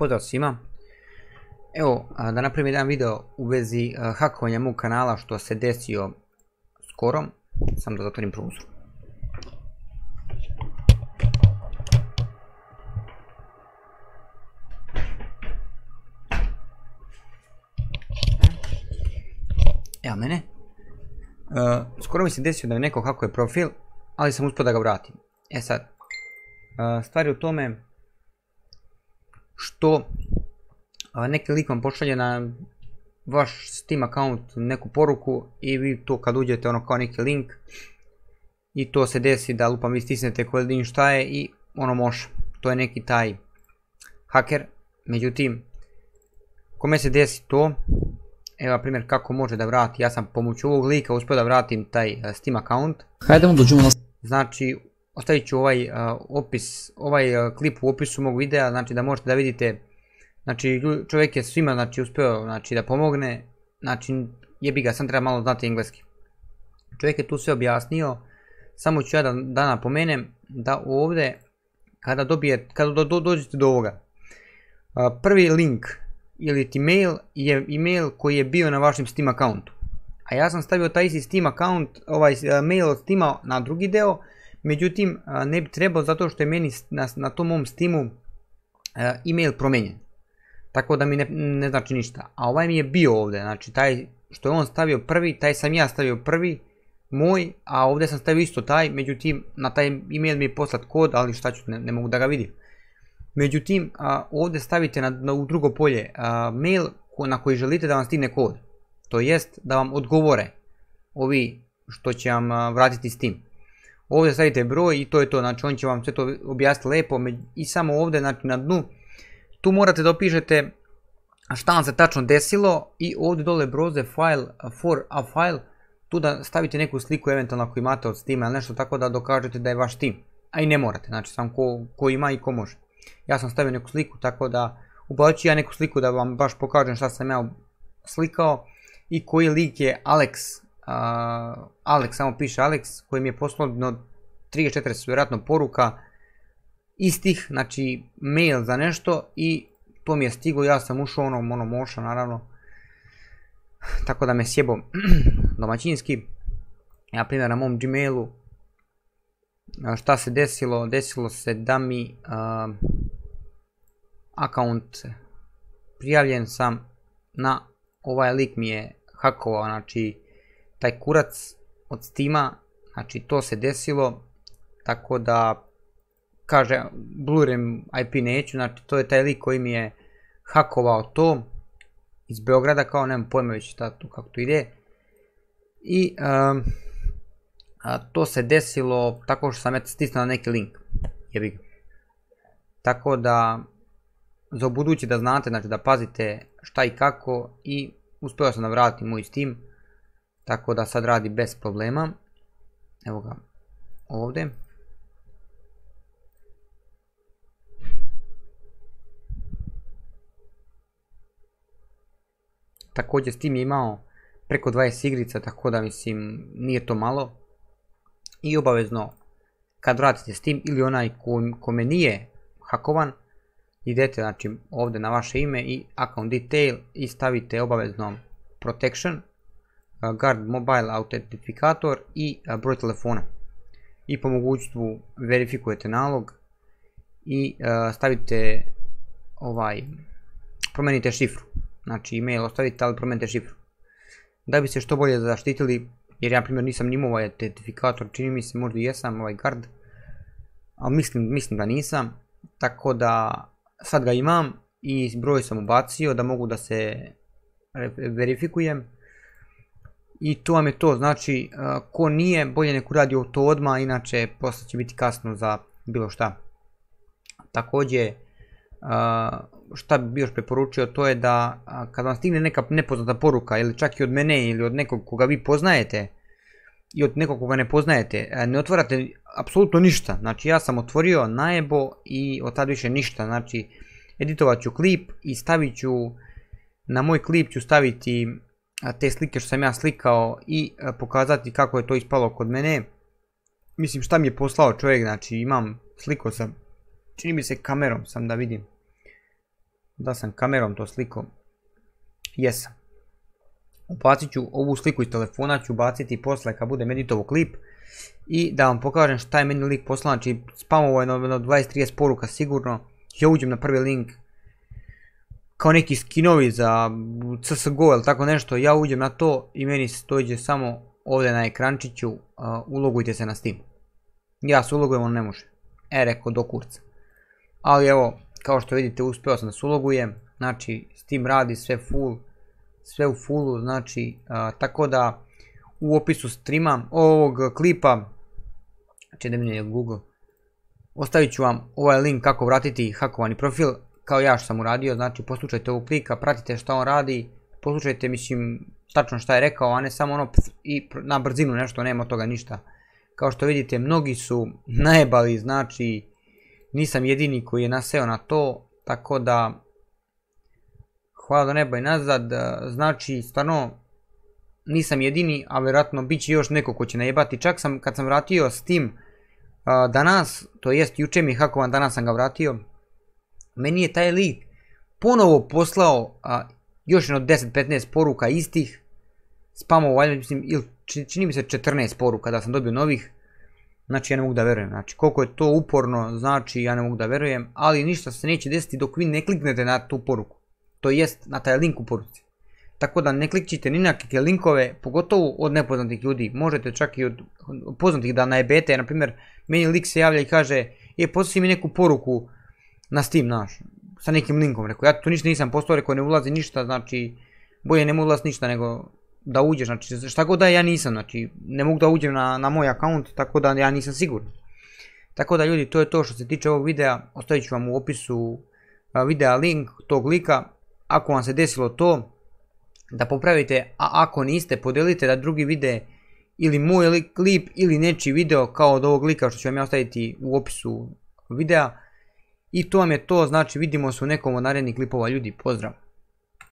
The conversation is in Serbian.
Pozdrav svima. Evo, da napravim jedan video u vezi hakovanja mog kanala što se desio skoro. Samo da zatvorim prozor. Evo mene. Skoro mi se desio da mi neko hakuje profil, ali sam uspio da ga vratim. E sad, stvar je u tome što neki lik vam pošalje na vaš Steam account neku poruku i vi to kad uđete ono kao neki link i to se desi da lupam vi stisnete koji link šta je i ono može. To je neki taj haker. Međutim, kome se desi to, evo na primjer kako može da vrati, ja sam pomoću ovog lika uspio da vratim taj Steam account. Hajdemo dođemo na... Znači, ostavit ću ovaj klip u opisu mog videa, znači da možete da vidite. Znači čovjek je svima znači uspio znači da pomogne, znači jebi ga, sam treba malo znati engleski. Čovjek je tu sve objasnio, samo ću ja da napomenem da ovdje kada dođete do ovoga, prvi link ili ti mail je email koji je bio na vašem Steam accountu. A ja sam stavio taj isti Steam account, ovaj mail od Steama na drugi deo, međutim ne bi trebao zato što je meni na tom mom Steamu email promijenjen. Tako da mi ne znači ništa. A ovaj mi je bio ovdje, znači taj što je on stavio prvi, taj sam ja stavio prvi, moj, a ovdje sam stavio isto taj, međutim na taj email mi je poslat kod, ali šta ću, ne mogu da ga vidim. Međutim, ovdje stavite u drugo polje mail na koji želite da vam stigne kod. To jest da vam odgovore ovi što će vam vratiti Steam. Ovdje stavite broj i to je to, znači on će vam sve to objasniti lijepo i samo ovdje znači na dnu tu morate da opišete šta vam se tačno desilo i ovdje dole browse file for a file, tu da stavite neku sliku eventualno ako imate od Steama ili nešto tako da dokažete da je vaš Steam. A i ne morate, znači sam ko ima i ko može. Ja sam stavio neku sliku tako da ubacit ću ja neku sliku da vam baš pokažem šta sam ja slikao i koji lik je Alex, samo piše Alex koji mi je poslao 34 vjerojatno poruka istih, znači mail za nešto i to mi je stiglo, ja sam ušao ono moša naravno, tako da me sjebo domaćinski. Ja primjer na mom Gmailu šta se desilo, desilo se da mi account prijavljen sam na ovaj lik mi je hakovao, znači taj kurac od Steama, znači to se desilo, tako da kaže blurem IP neću, znači to je taj lik koji mi je hakovao to iz Beograda, kao nemam pojma već kako to ide. I to se desilo tako što sam eto stisnuo na neki link, jebi ga. Tako da za ubuduće da znate, znači da pazite šta i kako i uspio sam da vratim moj Steam, tako da sad radi bez problema. Evo ga ovdje. Također Steam je imao preko 20 igrica, tako da mislim nije to malo. I obavezno kad vratite Steam ili onaj kome nije hakovan, idete znači ovdje na vaše ime i account detail i stavite obavezno protection, guard mobile autentifikator i broj telefona. I po mogućstvu verifikujete nalog i stavite promijenite šifru. Znači email ostavite, ali promijenite šifru. Da bi se što bolje zaštitili, jer ja na primjer nisam imao ovaj autentifikator, čini mi se možda i jesam ovaj guard, ali mislim da nisam, tako da sad ga imam i broj sam ubacio da mogu da se verifikujem. I to vam je to, znači ko nije bolje nek uradi to odmah, inače posle će biti kasno za bilo šta. Također šta bi još preporučio, to je da kad vam stigne neka nepoznata poruka ili čak i od mene ili od nekog koga vi poznajete i od nekog koga ne poznajete, ne otvarate apsolutno ništa. Znači ja sam otvorio najebo i od tad više ništa, znači editovat ću klip i stavit ću, na moj klip ću staviti te slike što sam ja slikao i pokazati kako je to ispalo kod mene. Mislim šta mi je poslao čovjek, znači imam, slikao sam, čini mi se kamerom sam da vidim. Da sam kamerom to sliko. Jesam. Ubacit ću ovu sliku iz telefona, ću baciti posle kad budem editovo klip. I da vam pokažem šta je meni lik poslao, znači spamovo je na 20-30 poruka sigurno. Ja uđem na prvi link, kao neki skinovi za CSGO ili tako nešto, ja uđem na to i meni se dođe samo ovdje na ekrančiću, ulogujte se na Steam. Ja se ulogujem, on ne može. Rekao do kurca. Ali evo, kao što vidite, uspio sam da se ulogujem, znači Steam radi sve full, sve u fullu, znači, tako da u opisu streama ovog klipa, znači da mi je Google, ostavit ću vam ovaj link kako vratiti hakovani profil, kao ja što sam uradio, znači poslušajte ovog klika, pratite šta on radi, poslušajte, mislim, tačno šta je rekao, a ne samo ono i na brzinu nešto, nema od toga ništa. Kao što vidite, mnogi su najebali, znači, nisam jedini koji je naseo na to, tako da, hvala do neba i nazad, znači, stvarno, nisam jedini, a vjerojatno bit će još neko ko će najebati. Čak sam, kad sam vratio Steam danas, to jest juče mi je hakovan, danas sam ga vratio, meni je taj lik ponovo poslao još jedno 10-15 poruka istih, spamovo, valjda mislim, ili čini mi se 14 poruka da sam dobio novih, znači ja ne mogu da verujem, znači koliko je to uporno, znači ja ne mogu da verujem, ali ništa se neće desiti dok vi ne kliknete na tu poruku, to jest na taj link u poruci. Tako da ne klikćite ni na kakve linkove, pogotovo od nepoznatih ljudi, možete čak i od poznatih da najebete, na primjer, meni lik se javlja i kaže, poslali mi neku poruku na Steam naš, sa nekim linkom, rekao, ja tu ništa nisam postao, rekao, ne ulazi ništa, znači, bolje ne mogu ulaz ništa nego da uđeš, znači, šta god da ja nisam, znači, ne mogu da uđem na moj account, tako da ja nisam siguran. Tako da ljudi, to je to što se tiče ovog videa, ostavit ću vam u opisu videa link tog lika, ako vam se desilo to, da popravite, a ako niste, podelite da drugi vide ili moj klip ili nečiji video kao od ovog lika što ću vam ja ostaviti u opisu videa. I to vam je to, znači vidimo se u nekom od narednih klipova ljudi, pozdrav!